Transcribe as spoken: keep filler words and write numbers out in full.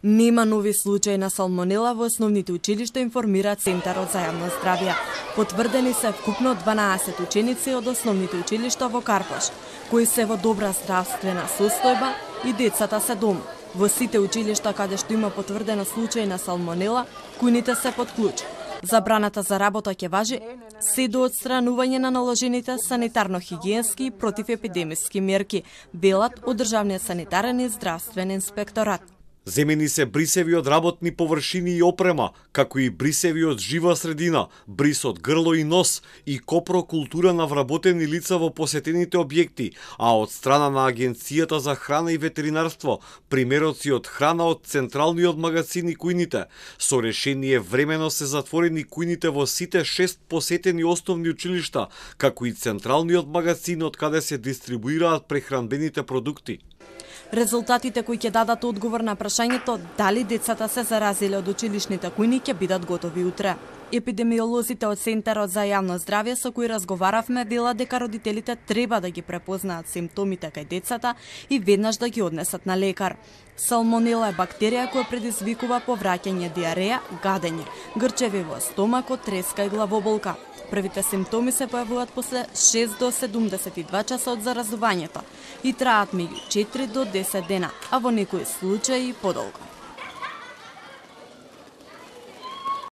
Нема нови случаи на салмонела во основните училишта, информира Центарот за јавно здравје. Потврдени се вкупно дванаесет ученици од основните училишта во Карпош, кои се во добра здравствена состојба и децата се дома. Во сите училишта каде што има потврдено случај на салмонела, кујните се под клуч. Забраната за работа ќе важи се до отстранување на наложените санитарно-хигиенски и противепидемиски мерки, велат од Државниот санитарен и здравствен инспекторат. Земени се брисеви од работни површини и опрема, како и брисеви од жива средина, брис од грло и нос и копрокултура на вработени лица во посетените објекти, а од страна на Агенцијата за храна и ветеринарство, примероци од храна од централниот магазин и кујните. Со решение времено се затворени кујните во сите шест посетени основни училишта, како и централниот магазин од каде се дистрибуираат прехранбените продукти. Резултатите кои ќе дадат одговор на прашањето дали децата се заразиле од училишните кујни ќе бидат готови утре. Епидемиолозите од Центарот за јавно здравје со кои разговаравме велат дека родителите треба да ги препознаат симптомите кај децата и веднаш да ги однесат на лекар. Салмонела е бактерија која предизвикува повраќање диареја, гадење, грчеви во стомакот, треска и главоболка. Првите симптоми се појавуваат после шест до седумдесет и два часа од заразувањето и траат меѓу четири до десет дена, а во некои случаи и подолго.